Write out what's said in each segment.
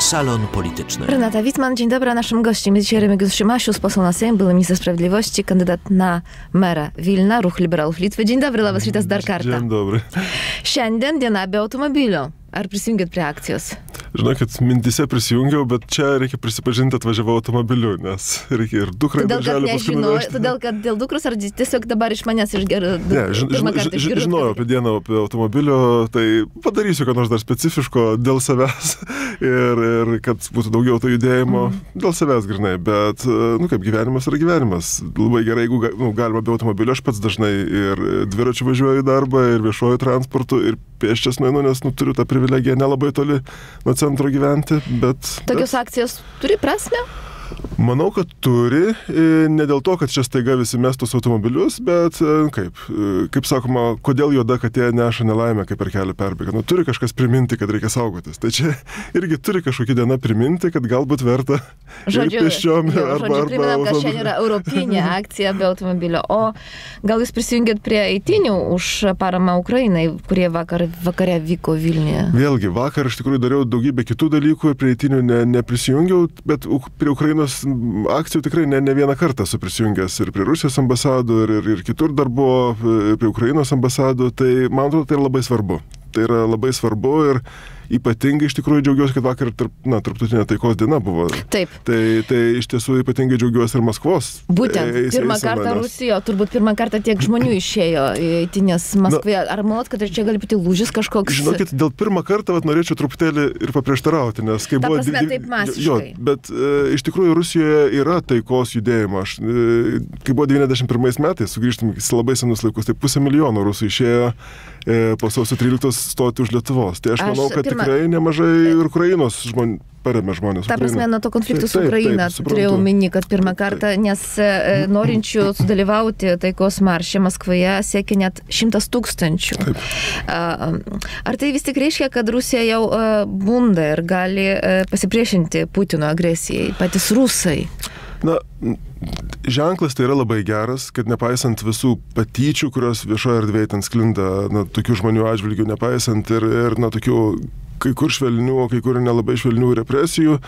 Salon Polityczny. Renata Wittmann, dzień dobry. Naszym gościem jest dzisiaj Remigiusz Šimašius, poseł na Sejm, były minister sprawiedliwości, kandydat na merą Vilna, Ruch Liberalów Litwy. Dzień dobry, labas rytas dar kartą. Dzień dobry. Šiandien diena be automobilio. Ar prisijungėt prie akcijos? Žinokit, mintise prisijungiau, bet čia reikia prisipažinti, atvažiavau automobiliu, nes reikia ir dukrai darželį paskui nuvežti. Todėl, kad dėl dukros ar tiesiog dabar iš manęs išgirdo? Ne, žinojau apie dieną apie automobilio, tai padarysiu, ką nors dar specifiško dėl savęs ir kad būtų daugiau to judėjimo dėl savęs grinai, bet, kaip gyvenimas yra gyvenimas. Labai gerai, jeigu galima be automobilio, aš pats dažnai ir dviračiu važiuoju į darbą, ir viešuoju transportu, ir pėsčias nueinu, nes turiu tą privilegiją nelabai toli nuo centro gyventi, bet... Tokios akcijos turi prasmę? Manau, kad turi, ne dėl to, kad čia staiga visi mestus automobilius, bet kaip sakoma, kodėl juoda katė neša nelaimę, kaip per kelią perbėga. Turi kažkas priminti, kad reikia saugotis. Tai čia irgi turi kažkokia diena priminti, kad galbūt verta pėsčiom arba priminam, kad šiandien yra europinė akcija be automobilio. O gal jūs prisijungėt prie eitinių už paramą Ukrainai, kurie vakare vyko Vilniuje? Vėlgi, vakar iš tikrųjų dariau daugybę kitų dalykų ir prie eitinių neprisijungiau, bet prie Ukrainos akcijų tikrai ne vieną kartą esu prisijungęs ir prie Rusijos ambasadų, ir kitur dar buvo, prie Ukrainos ambasadų, tai man atrodo, tai yra labai svarbu. Tai yra labai svarbu ir ypatingai iš tikrųjų džiaugiuosi, kad vakar tarptautinė taikos diena buvo. Taip. Tai iš tiesų ypatingai džiaugiuosi ir Maskvos. Būtent, pirmą kartą Rusijoje, turbūt pirmą kartą tiek žmonių išėjo į eitynes Maskvoje. Ar manot, kad čia gali būti lūžis kažkoks? Žinokit, dėl pirmą kartą norėčiau truputėlį ir paprieštarauti, nes kai buvo... Ta prasme, taip masiškai. Jo, bet iš tikrųjų Rusijoje yra taikos judėjimo. Kai buvo 91 metais, sugrįžtum į labai senus laikus, tai 500 000 rusų išėjo po sausio 13 stoti už Lietuvos. Tai aš manau, kad tikrai nemažai ir Ukrainos žmonių paremė žmonės. Ta prasme, nuo to konfliktų su Ukraina turėjau minį, kad pirmą kartą, nes norinčių sudalyvauti taikos marše Maskvoje siekia net 100 000. Ar tai vis tik reiškia, kad Rusija jau bunda ir gali pasipriešinti Putino agresijai, patys rusai? Na, ženklas tai yra labai geras, kad nepaisant visų patyčių, kurios viešoje erdvėje ten sklinda, tokių žmonių atžvilgių, nepaisant ir tokių kai kur švelnių, kai kur nelabai švelnių represijų,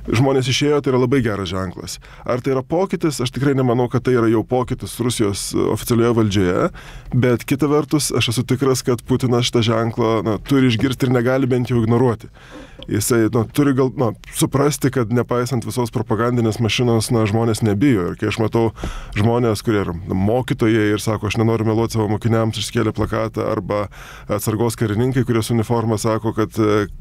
žmonės išėjo, tai yra labai geras ženklas. Ar tai yra pokytis? Aš tikrai nemanau, kad tai yra jau pokytis Rusijos oficialioje valdžioje, bet kita vertus, aš esu tikras, kad Putinas šitą ženklą turi išgirsti ir negali bent jau ignoruoti. Jisai turi suprasti, kad nepaisant visos propagandinės mašinos, žmonės nebijo. Ir kai aš matau žmonės, kurie yra mokytojai ir sako, aš nenoriu meluoti savo mokiniams, išskėlė plakatą, arba atsargos karininkai, kurie su uniforma sako, kad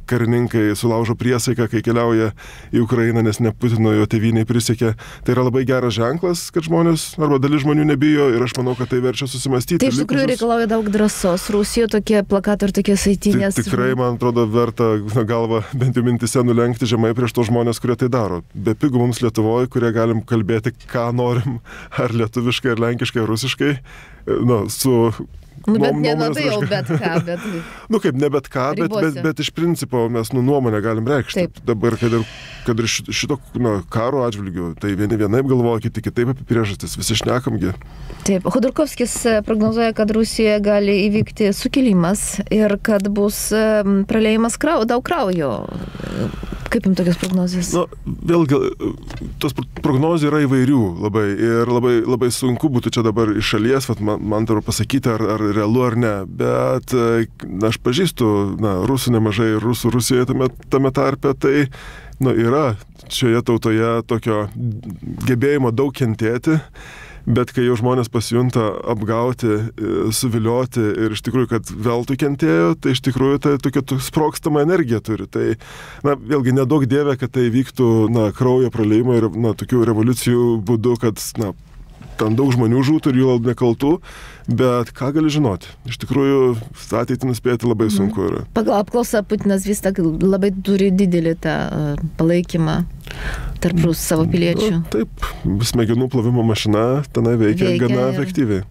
karininkai sulaužo priesaiką, kai keliauja į Ukrainą, nes ne Putino jo tėvynei prisiekė. Tai yra labai geras ženklas, kad žmonės arba dalis žmonių nebijo ir aš manau, kad tai verčia susimastyti. Tai iš tikrųjų reikalauja daug drąsos. Rusijoje tokie plakatai ir tokie eitynės. Tikrai, man atrodo, verta galvą bent jau mintise nulenkti žemai prieš tos žmonės, kurie tai daro. Be pigų mums Lietuvoje, kurie galim kalbėti, ką norim, ar lietuviškai, ar lenkiškai, ar rusiškai, su... bet nelabai jau bet ką, bet... kaip ne bet ką, bet iš principo mes nuomonę galim reikšti. Taip. Dabar, kad ir šito karo atžvilgiu, tai vieni vienaip galvoja, kiti kitaip apie priežastis, visi šnekamgi. Taip, Khodorkovskis prognozuoja, kad Rusijoje gali įvykti sukilimas ir kad bus praleidimas daug kraujo. Kaip jums tokios prognozijos? Vėlgi, tos prognozijos yra įvairių labai ir labai sunku būtų čia dabar iš šalies, man turiu pasakyti, ar realu ar ne, bet aš pažįstu rusų nemažai, rusų Rusijoje tame tarpe, tai yra šioje tautoje tokio gebėjimo daug kentėti. Bet kai jau žmonės pasijunta apgauti, suvilioti ir iš tikrųjų, kad veltui kentėjo, tai iš tikrųjų tai tokia sprogstamą energiją turi. Tai, vėlgi, nedaug dievė, kad tai vyktų, kraujo praleimo ir, tokių revoliucijų būdu, kad, ten daug žmonių žūtų ir jų nekaltų, bet ką gali žinoti? Iš tikrųjų, ateitį nuspėti labai sunku yra. Pagal apklausą Putinas vis tak labai turi didelį tą palaikymą tarp savo piliečių. Taip, smegenų plovimo mašina tenai veikia gana efektyviai.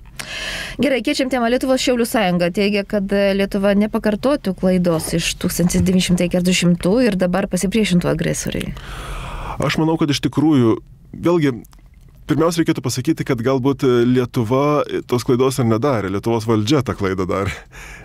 Gerai, keičiam temą. Lietuvos Šiaulių sąjunga teigia, kad Lietuva nepakartotų klaidos iš 1940 ir dabar pasipriešintų agresoriai. Aš manau, kad iš tikrųjų, vėlgi, pirmiausia, reikėtų pasakyti, kad galbūt Lietuva tos klaidos ir nedarė, Lietuvos valdžia tą klaidą darė.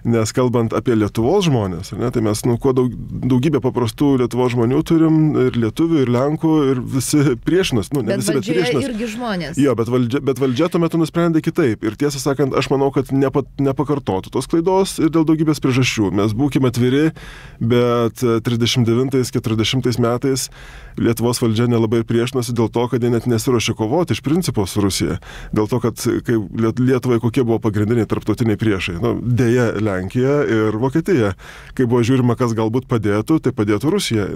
Nes kalbant apie Lietuvos žmonės, ne, tai mes kuo daugybę paprastų Lietuvos žmonių turim, ir lietuvių, ir lenkų, ir visi priešinas. Ne bet visi, bet priešinas. Irgi žmonės. Jo, bet valdžia tuo metu nusprendė kitaip. Ir tiesą sakant, aš manau, kad nepakartotų tos klaidos ir dėl daugybės priežasčių. Mes būkime atviri, bet 39-40 metais Lietuvos valdžia nelabai priešinosi dėl to, kad jie net nesiruošė kovoti iš principo su Rusija. Dėl to, kad Lietuvai kokie buvo pagrindiniai tarptautiniai priešai. Deja, Lenkija ir Vokietija. Kai buvo žiūrima, kas galbūt padėtų, tai padėtų Rusija.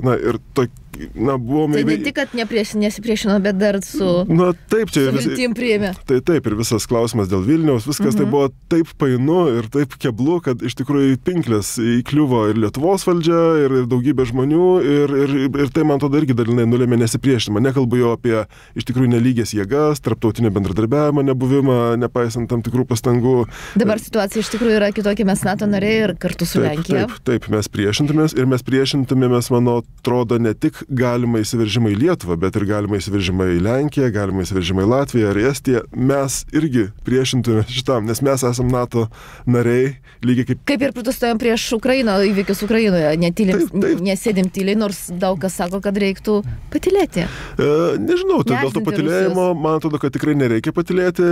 Buvome... Tai ne tik, kad nesipriešino, bet dar su viltim priėmė. Tai taip, ir visas klausimas dėl Vilniaus, viskas tai buvo taip painu ir taip keblu, kad iš tikrųjų pinklės įkliuvo ir Lietuvos valdžia, ir daugybė žmonių, ir tai man atrodo irgi dalinai nulėmė nesipriešinimą. Nekalbu jau apie iš tikrųjų nelygės jėgas, tarptautinio bendradarbiavimo nebuvimą, nepaisant tam tikrų pastangų. Dabar situacija iš tikrųjų yra kitokia, mes NATO nariai ir kartu su Lenkija. Taip, mes priešintumėmės, mano atrodo, ne tik galima įsiveržimą į Lietuvą, bet ir galima įsiveržimą į Lenkiją, galima įsiveržimą į Latviją ar Estiją. Mes irgi priešintumėmės šitam, nes mes esam NATO nariai, lygiai kaip... Kaip ir protestuojam prieš Ukrainą, įvykius Ukrainoje, nesėdim tyliai, nors daug kas sako, kad reiktų patylėti. Nežinau, dėl to patylėjimo, man atrodo, kad tikrai nereikia patylėti.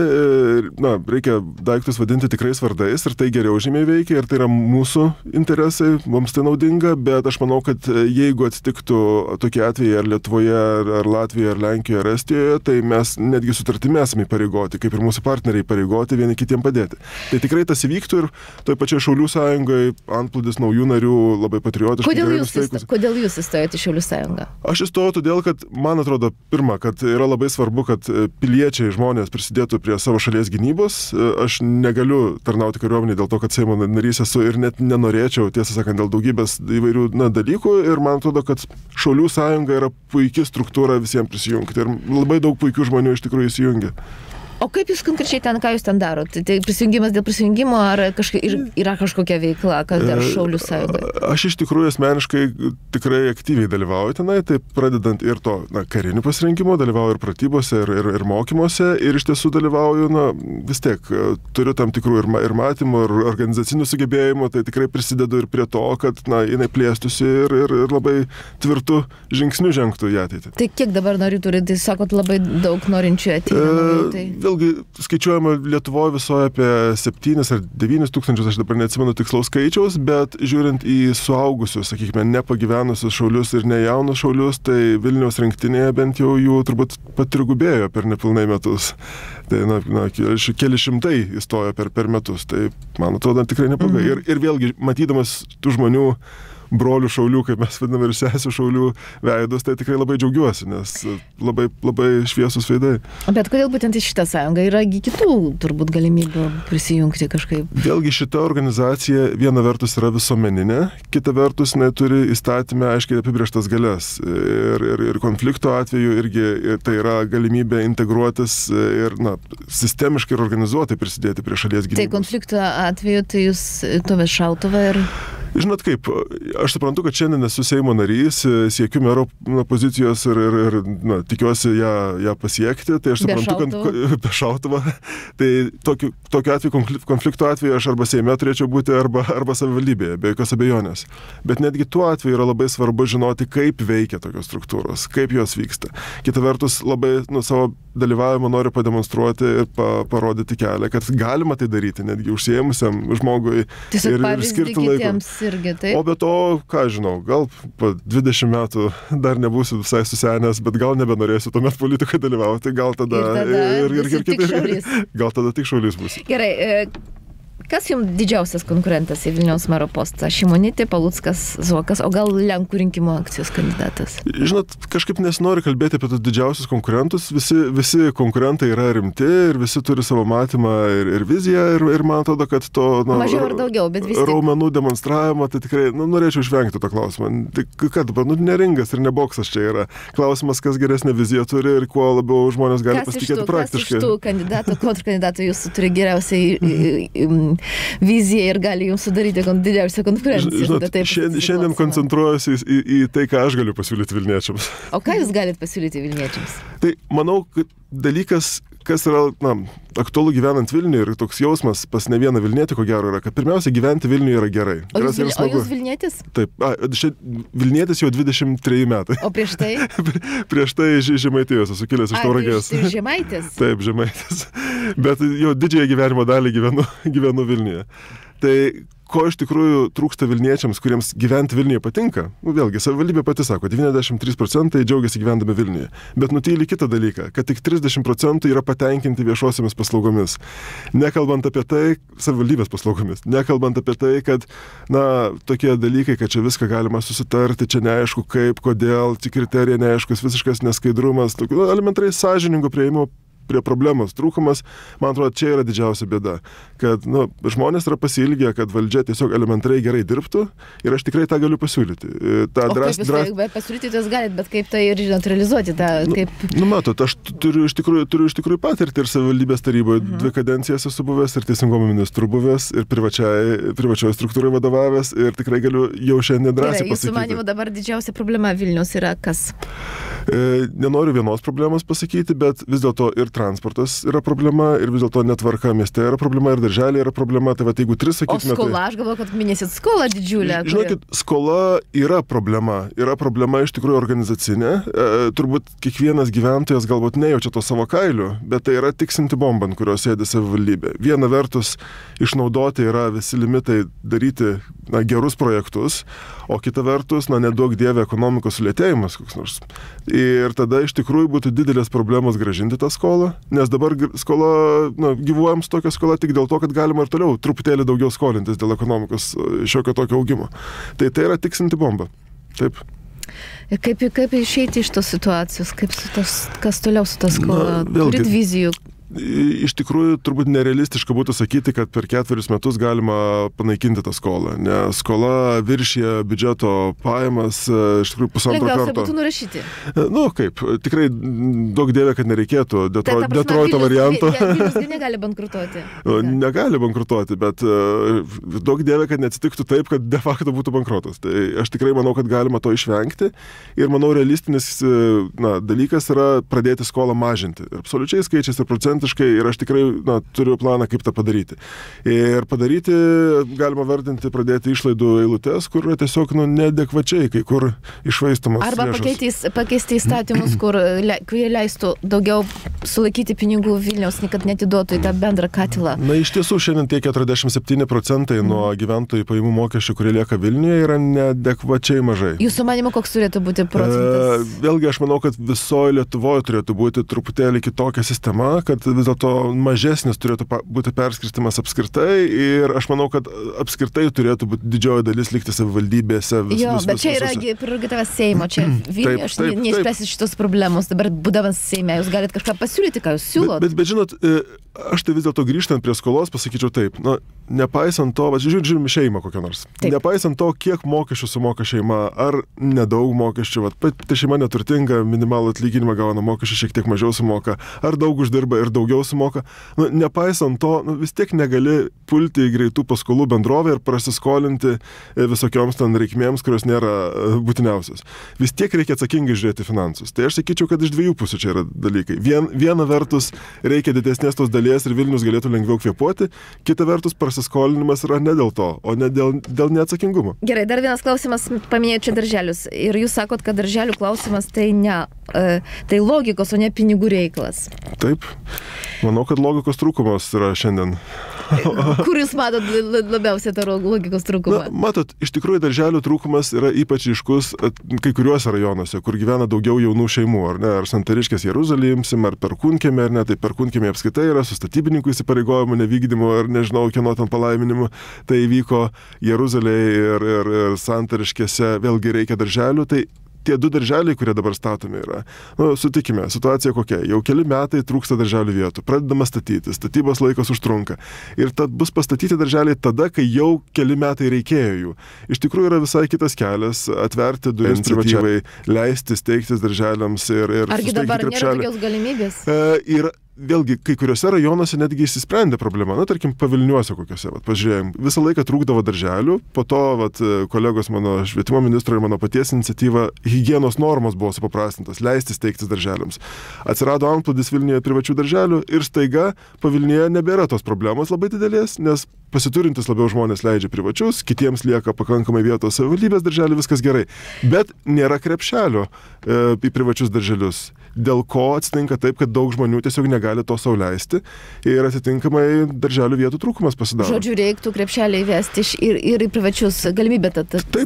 Reikia daiktus vadinti tikrais vardais ir tai geriau žymiai veikia ir tai yra mūsų interesai, mums tai naudinga, bet aš manau, kad jeigu atsitiktų tokie atvejai ar Lietuvoje, ar Latvijoje, ar Lenkijoje, ar Estijoje, tai mes netgi sutartimi esame įpareigoti, kaip ir mūsų partneriai įpareigoti vieni kitiem padėti. Tai tikrai tas įvyktų ir toj pačiai Šaulių sąjungoje antplūdis naujų narių labai patriotiškai. Kodėl jūs įstojate į Šaulių sąjungą? Aš įstojau todėl, kad man atrodo, pirma, kad yra labai svarbu, kad piliečiai žmonės prisidėtų prie savo šalies gynybos. Aš negaliu tarnauti kariuomenėje dėl to, kad Seimo narys esu ir net nenorėčiau, tiesą sakant, dėl daugybės įvairių dalykų ir man atrodo, kad Šaulių sąjunga yra puikia struktūra visiems prisijungti ir labai daug puikių žmonių iš tikrųjų įsijungia. O kaip jūs konkrečiai ką jūs ten darot? Tai prisijungimas dėl prisijungimo ar yra kažkokia veikla, kad dar Šaulių sąjungoje? Aš iš tikrųjų asmeniškai tikrai aktyviai dalyvauju tenai, tai pradedant ir to karinių pasirinkimo, dalyvauju ir pratybose, ir mokymuose ir iš tiesų dalyvauju, vis tiek turiu tam tikrų ir matymų, ir organizacinių sugebėjimų, tai tikrai prisidedu ir prie to, kad jinai plėstųsi ir labai tvirtų žingsnių žengtų į ateitį. Tai kiek dabar narių turi? Tai sakot, labai daug norinčių ateina. Vėlgi skaičiuojama Lietuvoje visoje apie 7 ar 9 tūkstančius, aš dabar neatsimenu tikslaus skaičiaus, bet žiūrint į suaugusius, sakykime, nepagyvenusius šaulius ir nejaunus šaulius, tai Vilniaus rinktinėje bent jau jų turbūt patrigubėjo per nepilnai metus. Tai keli šimtai įstojo per metus, tai man atrodo tikrai neblogai. Ir vėlgi, matydamas tų žmonių brolių šaulių, kaip mes vadiname, ir sesių šaulių veidus, tai tikrai labai džiaugiuosi, nes labai, labai šviesus veidai. Bet kodėl būtent į šitą sąjungą? Yra kitų turbūt galimybių prisijungti kažkaip? Vėlgi šita organizacija viena vertus yra visuomeninė, kita vertus turi įstatymę aiškiai apibrėžtas galias. Ir konflikto atveju irgi tai yra galimybė integruotis ir sistemiškai ir organizuotai prisidėti prie šalies gynybos. Tai konflikto atveju tai jūs tuomet šautuvą ir... Žinot kaip, aš suprantu, kad šiandien esu Seimo narys, siekiu mero pozicijos ir tikiuosi ją pasiekti, tai aš suprantu, kad be šautuvą, tai tokiu atveju, konflikto atveju aš arba Seime turėčiau būti, arba savivaldybėje, be jokios abejonės. Bet netgi tuo atveju yra labai svarbu žinoti, kaip veikia tokios struktūros, kaip jos vyksta. Kita vertus, labai savo dalyvavimą noriu pademonstruoti ir parodyti kelią, kad galima tai daryti, netgi užsiėmusiam žmogui ir skirti laiko. Irgi, o be to, ką žinau, gal po 20 metų dar nebūsiu visai susenęs, bet gal nebenorėsiu tuomet politikai dalyvauti, gal tada gal tada tik šaulys bus. Gerai, kas jums didžiausias konkurentas į Vilniaus mero postą? Šimonytė, Paluckas, Zuokas, o gal Lenkų rinkimų akcijos kandidatas? Žinot, kažkaip nesinori kalbėti apie tos didžiausius konkurentus. Visi konkurentai yra rimti ir visi turi savo matymą ir viziją ir man atrodo, kad to mažiau ar daugiau, bet vis tiek raumenų demonstravimo, tai tikrai norėčiau išvengti to klausimo. Tai kad dabar, ne ringas ir ne boksas čia yra. Klausimas, kas geresnę viziją turi ir kuo labiau žmonės gali pasitikėti praktiškai. Kas iš tų kandidatų, kontrkandidatų jūs turi geriausiai viziją ir gali jums sudaryti didžiausią konkurenciją. Žinot, šiandien koncentruojuosi į tai, ką aš galiu pasiūlyti Vilniečiams. O ką jūs galite pasiūlyti Vilniečiams? Tai manau, kad dalykas, kas yra aktualu gyvenant Vilniuje ir toks jausmas pas ne vieną Vilnietį, ko gero yra, kad pirmiausia gyventi Vilniuje yra gerai. O jūs Vilnietis? Taip, Vilnietis jau 23 metai. O prieš tai? Prieš tai Žemaitijos, esu kilęs iš Tauragės. Tai Žemaitis? Taip, Žemaitis. Bet jau didžiąją gyvenimo dalį gyvenu Vilniuje. Tai ko iš tikrųjų trūksta Vilniečiams, kuriems gyventi Vilniuje patinka? Vėlgi, savivaldybė pati sako, 93% džiaugiasi gyvendami Vilniuje. Bet nutyli kitą dalyką, kad tik 30% yra patenkinti viešosiamis paslaugomis. Nekalbant apie tai, savivaldybės paslaugomis. Nekalbant apie tai, kad, tokie dalykai, kad čia viską galima susitarti, čia neaišku kaip, kodėl, tik kriterija neaiškus, visiškas neskaidrumas, elementariai sąžiningo prieimo prie problemos trūkumas, man atrodo, čia yra didžiausia bėda, kad žmonės yra pasiilgę, kad valdžia tiesiog elementariai gerai dirbtų ir aš tikrai tą galiu pasiūlyti. Kaip jūs pasiūlyti, jūs galite, bet kaip tai ir realizuoti tą, kaip... Matot, aš turiu iš tikrųjų patirtį ir savivaldybės taryboje 2 kadencijas esu buvęs ir teisingumo ministrų buvęs ir privačioje struktūrai vadovavęs ir tikrai galiu jau šiandien drąsiai pasakyti. Jūsų manymu dabar didžiausia problema Vilnius yra kas? Nenoriu vienos problemos pasakyti, bet vis dėlto ir transportas yra problema ir vis dėlto netvarka mieste yra problema ir darželė yra problema. Tai jeigu 3 sakytume... O skola, aš galvoju, kad minėsit skolą didžiulę. Žinokit, skola yra problema. Yra problema iš tikrųjų organizacinė. Turbūt kiekvienas gyventojas galbūt nejaučia to savo kailių, bet tai yra tiksinti bomba, ant kurios sėdi savivaldybė. Viena vertus išnaudoti yra visi limitai daryti gerus projektus, o kita vertus, neduok dievė ekonomikos sulėtėjimas koks nors. Ir tada iš tikrųjų būtų didelės problemos grąžinti tą skolą, nes dabar skola, gyvuojam su tokia skola tik dėl to, kad galima ir toliau truputėlį daugiau skolintis dėl ekonomikos šiokio tokio augimo. Tai yra tiksinti bomba. Taip. Ir kaip išeiti iš tos situacijos, kas toliau su ta skola? Turit vizijų? Iš tikrųjų, turbūt nerealistiška būtų sakyti, kad per 4 metus galima panaikinti tą skolą, nes skola viršija biudžeto pajamas iš tikrųjų 1,5 karto. Lengviausia būtų nurašyti. Kaip, tikrai daug dievė, kad nereikėtų Detroito varianto. Vilnius negali bankrutuoti. Negali bankrutuoti, bet daug dievė, kad neatsitiktų taip, kad de facto būtų bankrotas. Tai aš tikrai manau, kad galima to išvengti ir manau, realistinis dalykas yra pradėti skolą mažinti. Absoliučiai skaičiais ir procentais. Ir aš tikrai turiu planą, kaip tą padaryti. Ir padaryti galima vardinti, pradėti išlaidų eilutes, kur yra tiesiog neadekvačiai, kai kur iššvaistamos lėšos. Arba pakeisti įstatymus, kurie leistų daugiau sulaikyti pinigų Vilniaus, kad netiduotų į tą bendrą katilą. Iš tiesų, šiandien tie 47% nuo gyventojų pajamų mokesčių, kurie lieka Vilniuje, yra neadekvačiai mažai. Jūsų manimo, koks turėtų būti procentas? Vėlgi, aš manau, kad visoje Lietuvoje turėtų būti truputėlį kitokia sistema, kad vis dėlto mažesnis turėtų būti perskirstimas apskritai ir aš manau, kad apskritai turėtų būti didžioji dalis likti savivaldybėse. Bet čia yra prerogatyvas Seimo, čia Vilniuje aš neišspręsiu šitos problemos, dabar būdamas Seime, jūs galite kažką pasiūlyti, ką jūs siūlot. Bet žinot, aš tai vis dėlto grįžtant prie skolos pasakyčiau taip, nepaisant to, žiūrim šeimą kokią nors, nepaisant to, kiek mokesčių sumoka šeima, ar nedaug mokesčių, tai šeima neturtinga, minimalų atlyginimą gauna, mokesčių šiek tiek mažiau sumoka, ar daug uždirba ir daugiau sumoka, nepaisant to, vis tiek negali pulti į greitų paskolų bendrovę ir prasiskolinti visokioms ten reikmėms, kurios nėra būtiniausios. Vis tiek reikia atsakingai žiūrėti finansus. Tai aš sakyčiau, kad iš 2 pusių čia yra dalykai. Viena vertus reikia didesnės tos dalies ir Vilnius galėtų lengviau kvėpuoti, kita vertus prasiskolinimas yra ne dėl to, o ne dėl neatsakingumo. Gerai, dar vienas klausimas, paminėjau čia darželius. Ir jūs sakot, kad darželių klausimas tai tai logikos, o ne pinigų reikalas. Taip. Manau, kad logikos trūkumas yra šiandien. Kur jūs matot labiausiai tą logikos trūkumą? Matot, iš tikrųjų darželių trūkumas yra ypač ryškus kai kuriuose rajonuose, kur gyvena daugiau jaunų šeimų, ar ne, ar Santariškės Jeruzalėje imsim, ar Perkūnkiemį, ar ne, tai Perkūnkiemį apskaitai yra su statybininkų įsipareigojimų nevykdymu, ar nežinau, kieno ten palaiminimu, tai įvyko Jeruzalėje ir Santariškėse, vėlgi reikia darželių, tai tie 2 darželiai, kurie dabar statomi yra. Sutikime, situacija kokia. Jau keli metai trūksta darželių vietų. Pradedama statyti. Statybos laikas užtrunka. Ir tad bus pastatyti darželiai tada, kai jau keli metai reikėjo jų. Iš tikrųjų yra visai kitas kelias atverti duris privačiai, leisti steigtis darželiams ir argi dabar nėra tokios galimybės? vėlgi, kai kuriuose rajonuose netgi išsisprendė problema. Na, tarkim, Pavilniuose kokiuose, pažiūrėjom, visą laiką trūkdavo darželių, po to kolegos mano švietimo ministro ir mano paties iniciatyva higienos normos buvo supaprastintos, leisti steigtis darželiams. Atsirado antplūdis Vilniuje privačių darželių ir staiga Pavilnyje nebėra tos problemos labai didelės, nes pasiturintis labiau žmonės leidžia privačius, kitiems lieka pakankamai vietos savivaldybės darželių, viskas gerai. Bet nėra krepšelio į privačius darželius. Dėl ko atsitinka taip, kad daug žmonių tiesiog negali to sau leisti ir atitinkamai darželių vietų trūkumas pasidaro. Žodžiu, reiktų krepšelį įvesti ir į privačius galimybę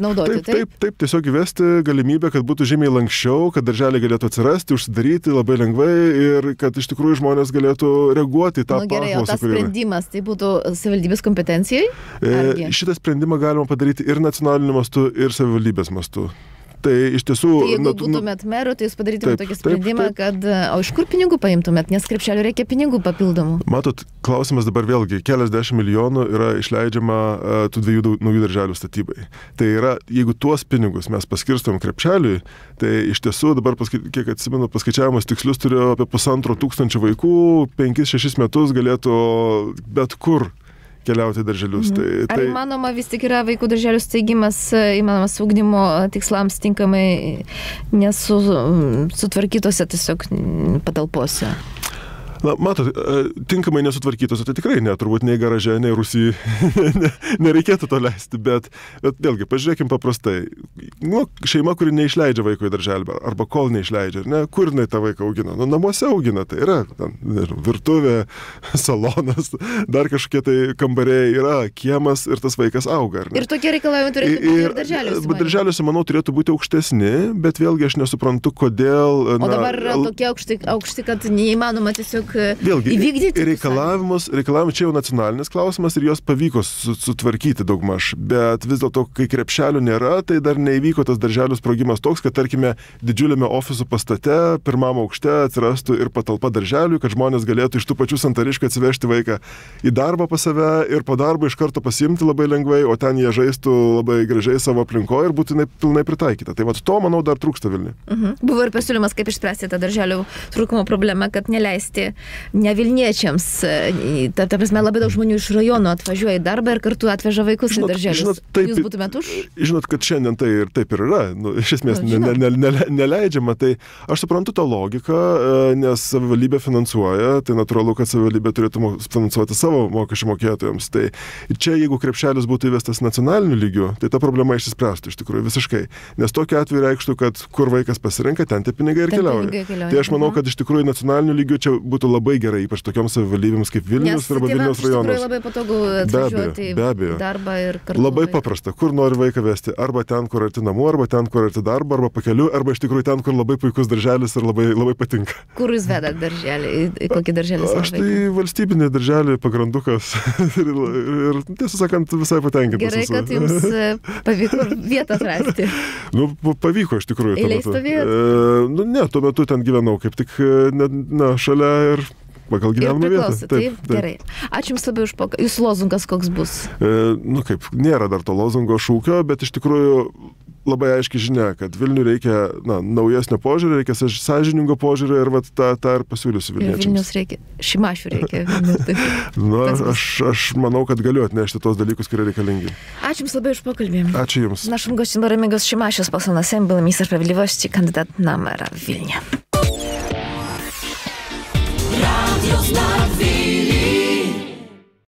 naudoti. Taip, tiesiog įvesti galimybę, kad būtų žymiai lankščiau, kad darželiai galėtų atsirasti, užsidaryti labai lengvai ir kad iš tikrųjų žmonės galėtų reaguoti į tą paklausą. Gerai, o tas sprendimas tai būtų savivaldybės kompetencijai? Šitą sprendimą galima padaryti ir nacionaliniu mastu, ir savivaldybės mastu. Tai iš tiesų... Tai jeigu būtumėt meru, tai jūs padarytumėt tokį sprendimą, kad... O iš kur pinigų paimtumėt, nes krepšelių reikia pinigų papildomų? Matot, klausimas dabar vėlgi, keliasdešimt milijonų yra išleidžiama tų 2 naujų darželių statybai. Tai yra, jeigu tuos pinigus mes paskirstom krepšeliui, tai iš tiesų dabar, kiek atsimenu, paskaičiavimus tikslius turiu apie 1500 vaikų, 5-6 metus galėtų bet kur keliauti darželius. Ar įmanoma vis tik yra vaikų darželių steigimas įmanomas ugdymo tikslams tinkamai nesutvarkytose tiesiog patalpose? Na, matot, tinkamai nesutvarkytose, tai tikrai ne, turbūt nei garaže, nei Rusijai nereikėtų to leisti, bet vėlgi, pažiūrėkim paprastai. Šeima, kuri neišleidžia vaiko į darželį, arba kol neišleidžia, ne, kur jinai tą vaiką augina? Nu, namuose augina, tai yra virtuvė, salonas, dar kažkokie tai kambariai, yra kiemas ir tas vaikas auga. Ir tokie reikalavimai turėtų būti ir darželiuose? Darželiuose, manau, turėtų būti aukštesni, bet vėlgi aš nesuprantu, kodėl... O dabar yra tokie aukšti, kad neįmanoma tiesiog vėlgi, reikalavimus, čia jau nacionalinis klausimas ir jos pavyko sutvarkyti daugmaž, bet vis dėlto, kai krepšelių nėra, tai dar neįvyko tas darželių sprogimas toks, kad tarkime didžiuliame ofisų pastate, pirmam aukšte atsirastų ir patalpa darželiui, kad žmonės galėtų iš tų pačių Santariškių atsivežti vaiką į darbą pas save ir po darbo iš karto pasiimti labai lengvai, o ten jie žaistų labai gražiai savo aplinkoje ir būtų pilnai pritaikyta. Tai to, manau, dar trūksta Vilniuje. Buvo ir pasiūlymas, kaip išspręsti tą darželių trūkumo problemą, kad neleisti ne Vilniečiams. Ta prasme, labai daug žmonių iš rajono atvažiuoja į darbą ir kartu atveža vaikus į darželius. Jūs būtumėt už? Žinot, kad šiandien tai ir taip ir yra. Iš esmės neleidžiama. Tai aš suprantu tą logiką, nes savivaldybė finansuoja, tai natūralu, kad savivaldybė turėtų finansuoti savo mokesčių mokėtojams. Tai čia, jeigu krepšelis būtų įvestas nacionaliniu lygiu, tai ta problema išsispręstų iš tikrųjų visiškai. Nes tokiu atveju reikštų, kad kur vaikas pasirenka, ten tie pinigai ir keliauja. Tai aš manau, kad iš tikrųjų nacionaliniu lygiu čia būtų labai gerai, ypač tokioms savivaldybėms kaip Vilnius arba Vilniaus rajonas. Nes labai patogu atvažiuoti į darbą ir kartu. Labai paprasta, kur nori vaiką vesti, arba ten, kur arti namų, arba ten, kur arti darbo, arba pakeliu, arba iš tikrųjų ten, kur labai puikus darželis ir labai patinka. Kur jūs vedat darželį? Į kokį darželį savo vaiką? Aš tai valstybinį darželį, pagrandukas ir tiesą sakant, visai patenkintas. Gerai, kad jums pavyko vietą atrasti. Pavyko iš tikrųjų. Eiliai stovėjot? Ne, tuo metu ten gyvenau kaip tik šalia ir pagal gyvenamą vietą. Taip, gerai. Ačiū Jums labai už pokalbį. Jūsų lozungas koks bus? Nėra dar to lozungo šūkio, bet iš tikrųjų labai aiški žinia, kad Vilniui reikia naujesnio požiūrio, reikia sąžiningo požiūrio ir tą ir pasiūlysiu Vilniečiams. Ir Vilnius reikia, Šimašių reikia. Aš manau, kad galiu atnešti tos dalykus, kurie reikalingi. Ačiū Jums labai už pokalbį. Ačiū Jums. Naszym gościem był Remigiusz Šimašius, poseł na Sejm, były minister sprawiedliwości, kandydat na mera w Wilnie. Radio Znaki.